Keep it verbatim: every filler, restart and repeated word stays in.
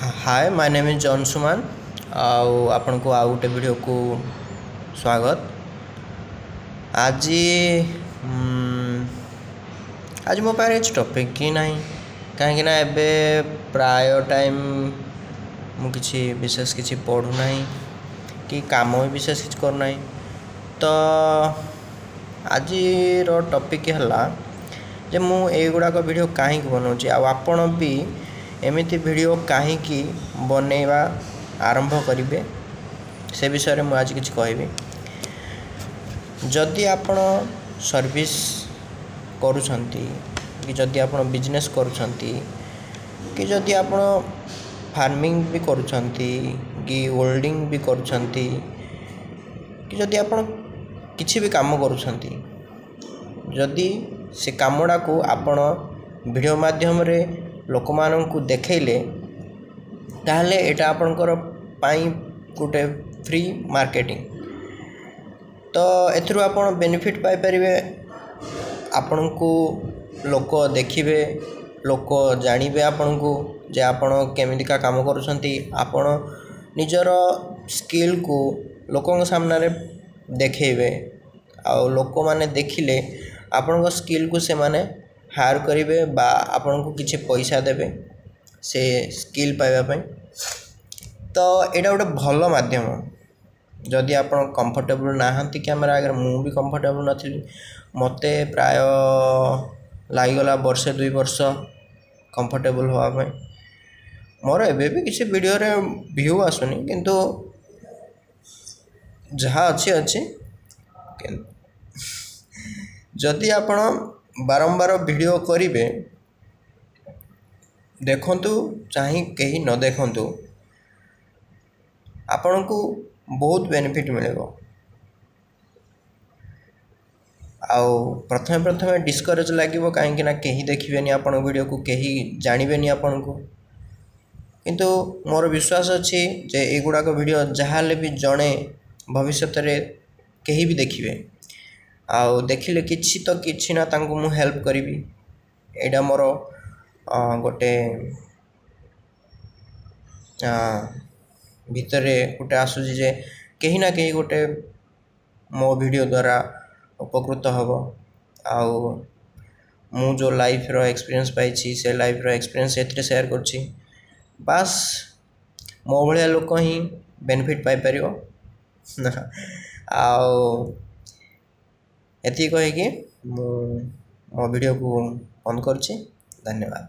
Hi, my name is Anshuman ଆଉ ଆପଣଙ୍କୁ ଆଉ ଗୋଟେ ଭିଡ଼ିଓକୁ ସ୍ୱାଗତ। ଆଜି ଆଜି ମୋ ପାଖରେ କିଛି ଟପିକ୍ ହିଁ ନାହିଁ, କାହିଁକିନା ଏବେ ପ୍ରାୟ ଟାଇମ୍ ମୁଁ କିଛି ବିଶେଷ କିଛି ପଢ଼ୁନାହିଁ କି କାମ ବି ବିଶେଷ କିଛି କରୁନାହିଁ। ତ ଆଜିର ଟପିକ୍ ହେଲା ଯେ ମୁଁ ଏଇଗୁଡ଼ାକ ଭିଡ଼ିଓ କାହିଁକି ବନାଉଛି ଆଉ ଆପଣ ବି ଏମିତି ଭିଡ଼ିଓ କାହିଁକି ବନେଇବା ଆରମ୍ଭ କରିବେ, ସେ ବିଷୟରେ ମୁଁ ଆଜି କିଛି କହିବି। ଯଦି ଆପଣ ସର୍ଭିସ୍ କରୁଛନ୍ତି କି ଯଦି ଆପଣ ବିଜନେସ୍ କରୁଛନ୍ତି କି ଯଦି ଆପଣ ଫାର୍ମିଂ ବି କରୁଛନ୍ତି କି ୱେଲ୍ଡିଂ ବି କରୁଛନ୍ତି କି ଯଦି ଆପଣ କିଛି ବି କାମ କରୁଛନ୍ତି, ଯଦି ସେ କାମଟାକୁ ଆପଣ ଭିଡ଼ିଓ ମାଧ୍ୟମରେ ଲୋକମାନଙ୍କୁ ଦେଖେଇଲେ, ତାହେଲେ ଏଇଟା ଆପଣଙ୍କର ପାଇଁ ଗୋଟେ ଫ୍ରି ମାର୍କେଟିଂ। ତ ଏଥିରୁ ଆପଣ ବେନିଫିଟ୍ ପାଇପାରିବେ। ଆପଣଙ୍କୁ ଲୋକ ଦେଖିବେ, ଲୋକ ଜାଣିବେ ଆପଣଙ୍କୁ ଯେ ଆପଣ କେମିତିକା କାମ କରୁଛନ୍ତି। ଆପଣ ନିଜର ସ୍କିଲ୍କୁ ଲୋକଙ୍କ ସାମ୍ନାରେ ଦେଖେଇବେ ଆଉ ଲୋକମାନେ ଦେଖିଲେ ଆପଣଙ୍କ ସ୍କିଲ୍କୁ ସେମାନେ ହାୟାର୍ କରିବେ ବା ଆପଣଙ୍କୁ କିଛି ପଇସା ଦେବେ ସେ ସ୍କିଲ୍ ପାଇବା ପାଇଁ। ତ ଏଇଟା ଗୋଟେ ଭଲ ମାଧ୍ୟମ। ଯଦି ଆପଣ କମ୍ଫର୍ଟେବୁଲ୍ ନାହାନ୍ତି କ୍ୟାମେରା ଆଗରେ, ମୁଁ ବି କମ୍ଫର୍ଟେବୁଲ୍ ନଥିଲି। ମୋତେ ପ୍ରାୟ ଲାଗିଗଲା ବର୍ଷେ ଦୁଇ ବର୍ଷ କମ୍ଫର୍ଟେବୁଲ୍ ହେବା ପାଇଁ। ମୋର ଏବେ ବି କିଛି ଭିଡ଼ିଓରେ ଭ୍ୟୁ ଆସୁନି, କିନ୍ତୁ ଯାହା ଅଛି ଅଛି। ଯଦି ଆପଣ ବାରମ୍ବାର ଭିଡ଼ିଓ କରିବେ, ଦେଖନ୍ତୁ ଚାହିଁ କେହି ନ ଦେଖନ୍ତୁ, ଆପଣଙ୍କୁ ବହୁତ ବେନିଫିଟ୍ ମିଳିବ। ଆଉ ପ୍ରଥମେ ପ୍ରଥମେ ଡିସ୍କରେଜ୍ ଲାଗିବ, କାହିଁକିନା କେହି ଦେଖିବେନି ଆପଣଙ୍କ ଭିଡ଼ିଓକୁ, କେହି ଜାଣିବେନି ଆପଣଙ୍କୁ। କିନ୍ତୁ ମୋର ବିଶ୍ୱାସ ଅଛି ଯେ ଏଇଗୁଡ଼ାକ ଭିଡ଼ିଓ ଯାହା ହେଲେ ବି ଜଣେ ଭବିଷ୍ୟତରେ କେହି ବି ଦେଖିବେ, ଆଉ ଦେଖିଲେ କିଛି ତ କିଛି ନା ତାଙ୍କୁ ମୁଁ ହେଲ୍ପ କରିବି। ଏଇଟା ମୋର ଗୋଟେ ଭିତରେ ଗୋଟେ ଆସୁଛି ଯେ କେହି ନା କେହି ଗୋଟେ ମୋ ଭିଡ଼ିଓ ଦ୍ୱାରା ଉପକୃତ ହେବ, ଆଉ ମୁଁ ଯେଉଁ ଲାଇଫ୍ର ଏକ୍ସପିରିଏନ୍ସ ପାଇଛି ସେ ଲାଇଫ୍ର ଏକ୍ସପିରିଏନ୍ସ ଏଥିରେ ସେୟାର କରୁଛି। ବାସ୍, ମୋ ଭଳିଆ ଲୋକ ହିଁ ବେନିଫିଟ୍ ପାଇପାରିବ। ଆଉ ଏତିକି କହିକି ମୁଁ ମୋ ଭିଡ଼ିଓକୁ ବନ୍ଦ କରୁଛି। ଧନ୍ୟବାଦ।